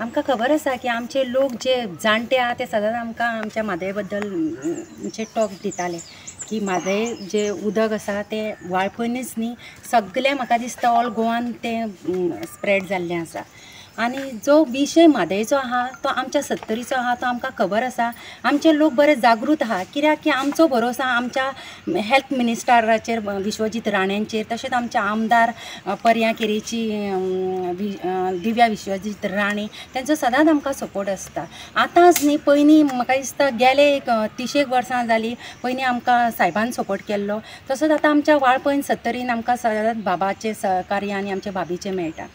आमकां खबर आसा की आमचे लोक जे जाणटे आहा ते सदांच आमकां आमच्या म्हादय बद्दल म्हणजे टॉक दिताले की म्हादय जे उदक आसा तें वाळपयनूच न्ही, सगळें म्हाका दिसता ऑल गोवान तें स्प्रेड जाल्लें आसा. आनी जो विशय म्हादयचो आहा तो आमच्या सत्तरीचो आहा, तो आमकां खबर आसा. आमचे लोक बरे जागृत आहा, कित्याक की आमचो भरोसो आमच्या हेल्थ मिनिस्टराचेर विश्वजीत राण्यांचेर, तशेंच आमच्या आमदार पर्या केरीची दिव्या विश्वजीत राणे तेंचो सदांच आमकां सपोर्ट आसता. आतांच न्ही, पयलीं म्हाका दिसता गेले एक 30 वर्सां जालीं पयलीं आमकां सायबान सपोर्ट केल्लो, तसोच आतां आमच्या वाळपयन सत्तरीन आमकां सदांच बाबाचें सहकार्य आनी आमच्या भाभीचें मेळटा.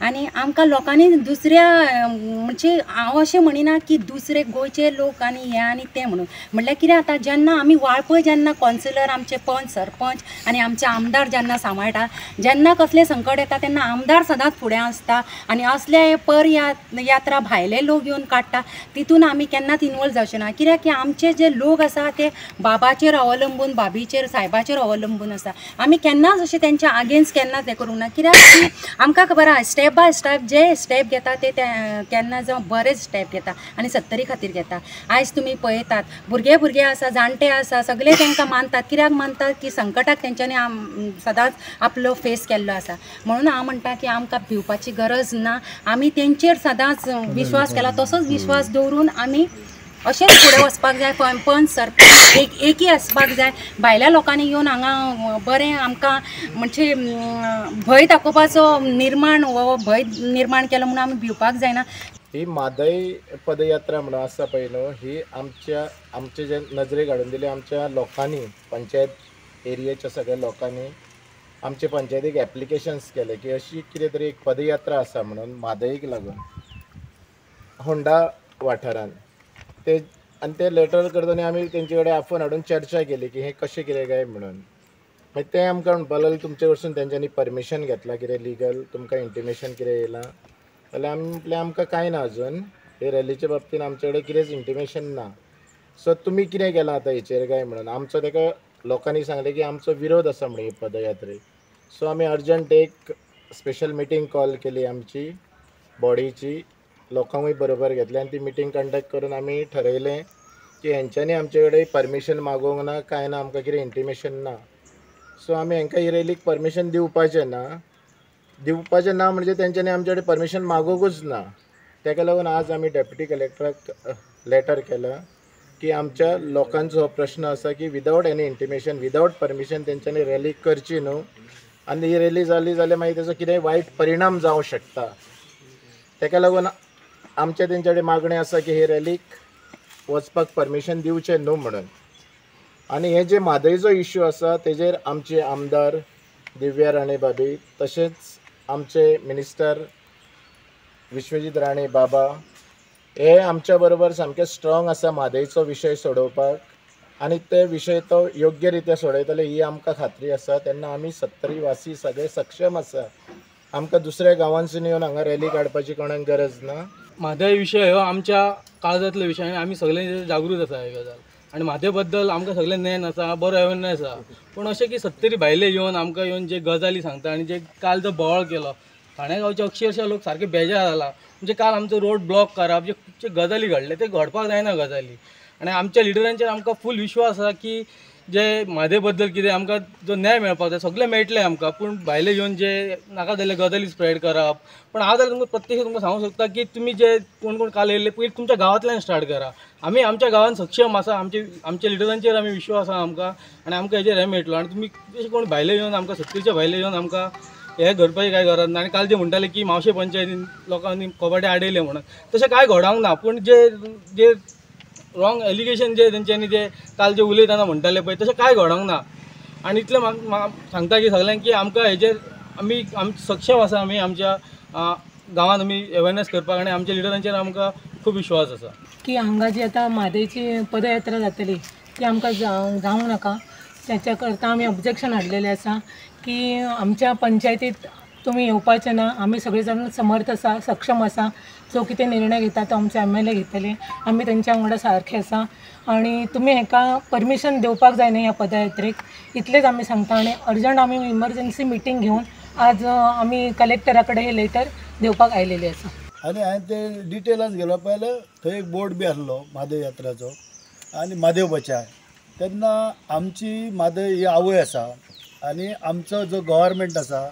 आनी आमकां लोकांनी दुसऱ्या म्हणजे हांव अशें म्हणिना की दुसरे गोंयचे लोक आनी हे आनी ते म्हणून, म्हणल्यार कितें आतां जेन्ना आमी वाळपय जेन्ना कौन्सिलर आमचे पंच सरपंच आनी आमचे आमदार जेन्ना सांबाळटा, जेन्ना कसलें संकट येता तेन्ना आमदार सदांच फुडें आसता. आनी असले पर यात्रा भायले लोक येवन काडटा तितून आमी केन्नाच इनवॉल्व जावचे ना, कित्याक की आमचे जे लोक आसा ते बाबाचेर अवलंबून, भाभीचेर, सायबाचेर अवलंबून आसा. आमी केन्नाच अशें तेंच्या अगेन्स्ट केन्नाच हें करूंक ना, कित्याक की आमकां खबर आसा step by step J step घेता ते केन्ना जावं बरेच स्टेप घेता आनी सत्तरी खातीर घेता. आयज तुमी पळयतात भुरगे भुरगे आसा, जाणटे आसा, सगळे तांकां मानतात. कित्याक मानतात की संकटाक तेंच्यांनी सदांच आपलो फेस केल्लो आसा. म्हणून हांव म्हणटा की आमकां भिवपाची गरज ना, आमी तेंचेर सदांच विश्वास केला, तसोच विश्वास दवरून आमी अशेंच फुडें वचपाक जाय. पंच सरपंच एक एकी आसपाक जाय. भायल्या लोकांनी येवन हांगा बरें आमकां म्हणजे भंय दाखोवपाचो निर्माण हो भंय निर्माण केलो म्हणून आमी भिवपाक जायना. ही म्हादय पदयात्रा म्हणून आसा पळय न्हू, ही आमच्या आमचे जे नजरेक हाडून दिली आमच्या लोकांनी, पंचायत एरियेच्या सगळ्या लोकांनी आमचे पंचायतीक एप्लिकेशन्स केले की अशी कितें तरी एक पदयात्रा आसा म्हणून म्हादयक लागून होंडा वाठारान ते, आनी ते लेटर करतना आमी तेंचे कडेन आफोवन हाडून चर्चा केली की हें कशें कितें काय म्हणून. मागीर ते आमकां म्हणपाक लागले तुमचे कडसून तेंच्यांनी परमिशन घेतलां कितें लिगल, तुमकां इंटिमेशन कितें येयलां जाल्यार आमी म्हटलें आमकां कांय ना अजून हे रॅलीच्या बाबतीन आमचे कडेन कितेंच इंटिमेशन ना, सो तुमी कितें केलां आतां हेचेर काय म्हणून. आमचो तेका लोकांनी सांगलें की आमचो विरोध आसा म्हणून ही पदयात्रेक. सो आमी अर्जंट एक स्पेशल मिटींग कॉल केली आमची बॉडीची, लोकांकूय बरोबर घेतले आनी ती मिटींग कंडक्ट करून आमी ठरयलें की हेंच्यांनी आमचे कडेन परमिशन मागोवंक ना, कांय ना, आमकां कितें इंटिमेशन ना, सो आमी हेंकां ही रॅलीक परमिशन दिवपाचें ना. दिवपाचें ना म्हणजे तेंच्यांनी आमचे कडेन परमिशन मागोवंकूच ना. तेका लागून आज आमी डेप्युटी कलेक्टराक लेटर केलां की आमच्या लोकांचो हो प्रश्न आसा की without any intimation, without permission तेंच्यांनी रॅली करची न्हू, आनी ही रॅली जाली जाल्यार मागीर तेजो कितेंय वायट परिणाम जावं शकता. तेका लागून आमचे तेंचे कडेन मागणें आसा की हे रॅलीक वचपाक परमिशन दिवचें न्हू म्हणून. आनी हे जे म्हादयचो इश्यू आसा तेजेर आमचे आमदार दिव्या राणे भाभी, तशेंच आमचे मिनिस्टर विश्वजीत राणे बाबा हे आमच्या बरोबर सामके स्ट्रॉंग आसा म्हादयचो विशय सोडोवपाक, आनी ते विशय तो योग्य रित्या सोडयतले ही आमकां खात्री आसा. तेन्ना आमी सत्तरी वासी सगळे सक्षम आसा, आमकां दुसऱ्या गांवांसून येवन हांगा रॅली काडपाची कोणाक गरज ना. म्हादय विशय हो आमच्या काळजांतलो विशय आनी आमी सगळे जागृत आसा ही गजाल, आनी म्हादय बद्दल आमकां सगळें ज्ञान आसा, बरो अवेरनेस आसा. पूण अशें की सत्तरी भायले येवन आमकां येवन जे गजाली सांगता आनी जे काल जो बोवाळ केलो ठाणे गांवचे अक्षरशः लोक सारके बेजार जाला. म्हणजे काल आमचो रोड ब्लॉक करप जे खुबशे गजाली घडले ते घडपाक जायना गजाली. आनी आमच्या लिडरांचेर आमकां फूल विश्वास आसा की जे म्हादय बद्दल कितें आमकां जो न्याय मेळपाक जाय सगळें मेळटलें आमकां. पूण भायले येवन जे नाका जाल्ले गजाली स्प्रेड करप, पूण हांव जाल्यार तुमकां प्रत्यक्ष तुमकां सांगूंक शकता की तुमी जे कोण कोण काल येयल्ले पयलीं तुमच्या गांवांतल्यान स्टार्ट करा. आमी आमच्या गांवांत सक्षम आसा, आमच्या लिडरांचेर आमी विश्वास आसा आमकां, आनी आमकां हेजेर हें मेळटलो. आनी तुमी अशें कोण भायले येवन आमकां सत्तरीच्या भायले येवन आमकां हें घडपाची कांय गरज ना. आनी काल जे म्हणटाले की मावशे पंचायतीन लोकांनी कबाडे आडयले म्हणून, तशें कांय घडोवंक ना. पूण जे जे रॉंग एलिगेशन जे तेंच्यांनी जे काल जे उलयतना म्हणटाले पळय तशें कांय घडोवंक ना. आनी इतलें म्हाका सांगता की सगळ्यांक की आमकां हेजेर आमी सक्षम आसा, आमी आमच्या गांवांत आमी अवेरनेस करपाक आनी आमच्या लिडरांचेर आमकां खूब विश्वास आसा. की हांगा जी आतां म्हादयची पदयात्रा जातली ती आमकां जावंक नाका, त्याच्या करता आमी ऑब्जेक्शन हाडलेलें आसा की आमच्या पंचायतीत तुमी येवपाचें ना. आमी सगळे जाण समर्थ आसा, सक्षम आसा, जो कितें निर्णय घेता तो आमचे एम एल ए घेतले, आमी तेंच्या वांगडा सारखे आसा आनी तुमी हेका परमिशन दिवपाक जायना ह्या पदयात्रेक, इतलेंच आमी सांगता. आनी अर्जंट आमी इमरजन्सी मिटींग घेवन आज आमी कलेक्टरा कडेन हे लेटर दिवपाक आयलेले आसा. आनी हांवें ते डिटेलान गेलो पळयल्यार थंय एक बोर्ड बी आसलो म्हादय यात्राचो आनी म्हादेव बचाय. तेन्ना आमची म्हादय ही आवय आसा आनी आमचो जो गव्हर्मेंट आसा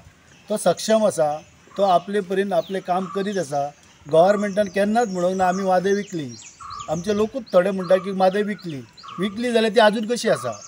तो सक्षम आसा, तो आपले परीन आपलें काम करीत आसा. गव्हर्मेंटान केन्नाच म्हणूंक ना आमी म्हादय विकली. आमचे लोकूच थोडे म्हणटा की म्हादय विकली, विकली जाल्यार ती आजून कशी आसा.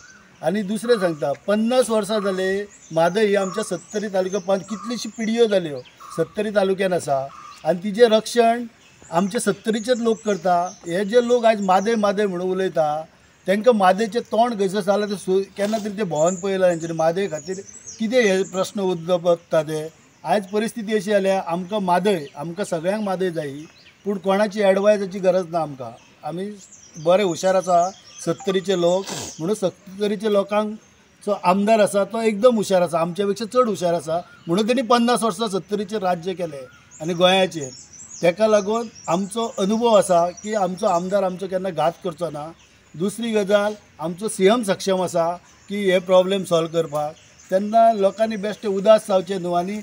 आनी दुसरें सांगता, 50 वर्सां जाले म्हादय ही आमच्या सत्तरी तालुक्यात कितलीशी पिढयो जाल्यो सत्तरी तालुक्यान आसा आनी तिजें रक्षण आमचे सत्तरीचेच लोक करता. हे जे लोक आयज म्हादय म्हादय म्हणून उलयता तांकां म्हादयचें तोंड खंयसर जाल्यार ते केन्ना तरी ते भोंवन पळयलां तेंच्यांनी म्हादय खातीर कितें हे प्रस्न उद्भवता ते. आयज परिस्थिती अशी जाल्या आमकां म्हादय, आमकां सगळ्यांक म्हादय जायी, पूण कोणाची एडवायजाची गरज ना आमकां. आमी बरे हुशार आसा सत्तरीचे लोक, म्हणून सत्तरीचे लोकांक जो आमदार आसा तो एकदम हुशार आसा, आमच्या पेक्षा चड हुशार आसा, म्हणून तेणी 50 वर्सां सत्तरीचेर राज्य केलें आनी गोंयाचेर. ताका लागून आमचो अनुभव आसा की आमचो आमदार आमचो केन्ना घात करचो ना. दुसरी गजाल, आमचो सीएम सक्षम आसा की हे प्रॉब्लेम सॉल्व करपाक. तेन्ना लोकांनी बेश्टे उदास जावचें न्हू आनी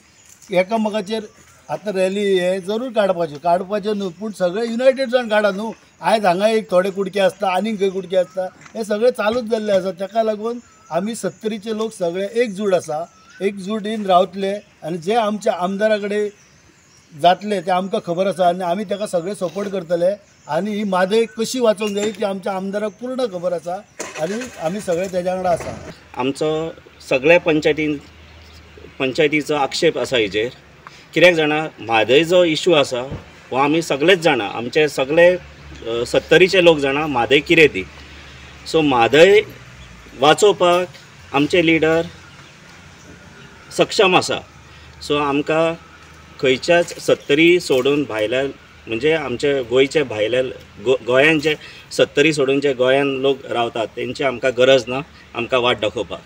एकामेकाचेर आतां रॅली हे जरूर काडपाच्यो, काडपाच्यो न्हू, पूण सगळे युनायटेड जावन काडा न्हू. आयज हांगा एक थोडे कुडके आसता, आनीक खंय कुडके आसता, हे सगळें चालूच जाल्लें आसा. ताका लागून आमी सत्तरीचे लोक सगळे एकजूट आसा, एकजुटीन रावतले आनी जे आमच्या आमदारा कडेन जातले ते आमकां खबर आसा आनी आमी ताका सगळे सपोर्ट करतले. आनी ही म्हादय कशी वाचोवंक जाय ती आमच्या आमदाराक पूर्ण खबर आसा आनी आमी सगळे तेज्या वांगडा आसा. आमचो सगळ्या पंचायतीचो आक्षेप आसा हेजेर. कित्याक जाणा, म्हादय जो इशू आसा हो आमी सगळेच जाणा, आमचे सगळे सत्तरीचे लोक जाणा म्हादय कितें ती. सो म्हादय वाचोवपाक आमचे लिडर सक्षम आसा. सो आमकां खंयच्याच सत्तरी सोडून भायल्या, म्हणजे आमचे गोंयचे भायले गोंयान जे सत्तरी सोडून जे गोंयान लोक रावतात तेंची आमकां गरज ना आमकां वाट दाखोवपाक.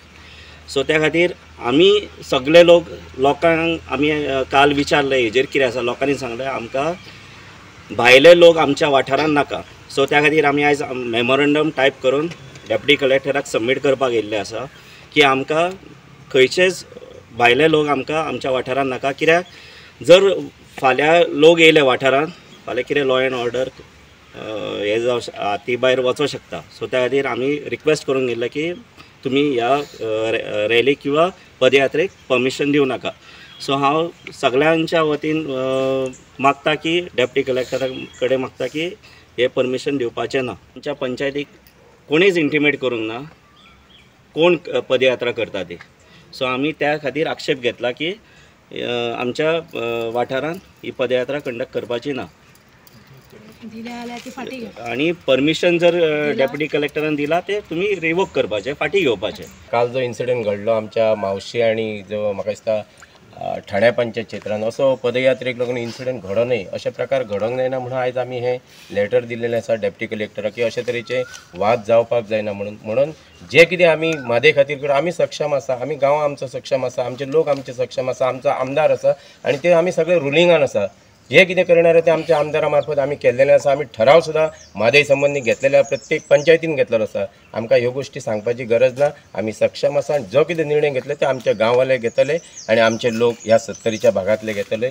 सो त्या खातीर आमी सगळे लोक लोकांक आमी काल विचारलें हेजेर कितें आसा, लोकांनी सांगलें आमकां भायले लोक आमच्या वाठारान नाका. सो त्या खातीर आमी आयज मेमोरंडम टायप करून डेप्युटी कलेक्टराक सबमीट करपाक येयल्लें आसा की आमकां खंयचेच भायले लोक आमकां आमच्या वाठारान नाका. कित्याक जर फाल्यां लोक येयले वाठारान, फाल्यां कितें लॉ एंड ऑर्डर हें जावं हाती भायर वचोंक शकता. सो त्या खातीर आमी रिक्वेस्ट करूंक गेल्ले की तुमी ह्या रॅलीक किंवा पदयात्रेक परमिशन दिवं नाका. सो हांव सगळ्यांच्या वतीन मागता की डेप्युटी कलेक्टरा कडेन मागता की हें परमिशन दिवपाचें ना. आमच्या पंचायतीक कोणीच इंटिमेट करूंक ना कोण पदयात्रा करता ती. सो आमी त्या खातीर आक्षेप घेतला की आमच्या वाठारांत ही पदयात्रा कंडक्ट करपाची ना. आनी परमिशन जर डेप्युटी कलेक्टरान दिला ते तुमी रिवोक करपाचे, फाटीं घेवपाचे. काल जो इन्सिडंट घडलो आमच्या मावशी आनी जो म्हाका दिसता ठाण्या पंचायत क्षेत्रान असो पदयात्रेक लागून इन्सिडंट घडो न्हय, अशे प्रकार घडोवंक जायना म्हणून आयज आमी हें लेटर दिल्लेलें आसा डेप्युटी कलेक्टराक की अशे तरेचे वाद जावपाक जायना म्हणून. म्हणून जे कितें आमी म्हादय खातीर करता, आमी सक्षम आसा, आमी गांव आमचो सक्षम आसा, आमचे लोक आमचे सक्षम आसा, आमचो आमदार आसा आनी ते आमी सगळे रुलिंगान आसा. जे कितें करणार ते आमच्या आमदारा मार्फत आमी केल्लेलें आसा. आमी ठराव सुद्दां म्हादय संबंदी घेतलेले आसा, प्रत्येक पंचायतीन घेतलेलो आसा. आमकां ह्यो गोश्टी सांगपाची गरज ना, आमी सक्षम आसा आनी जो कितें निर्णय घेतले ते आमच्या गांववाले घेतले आनी आमचे लोक ह्या सत्तरीच्या भागांतले घेतले.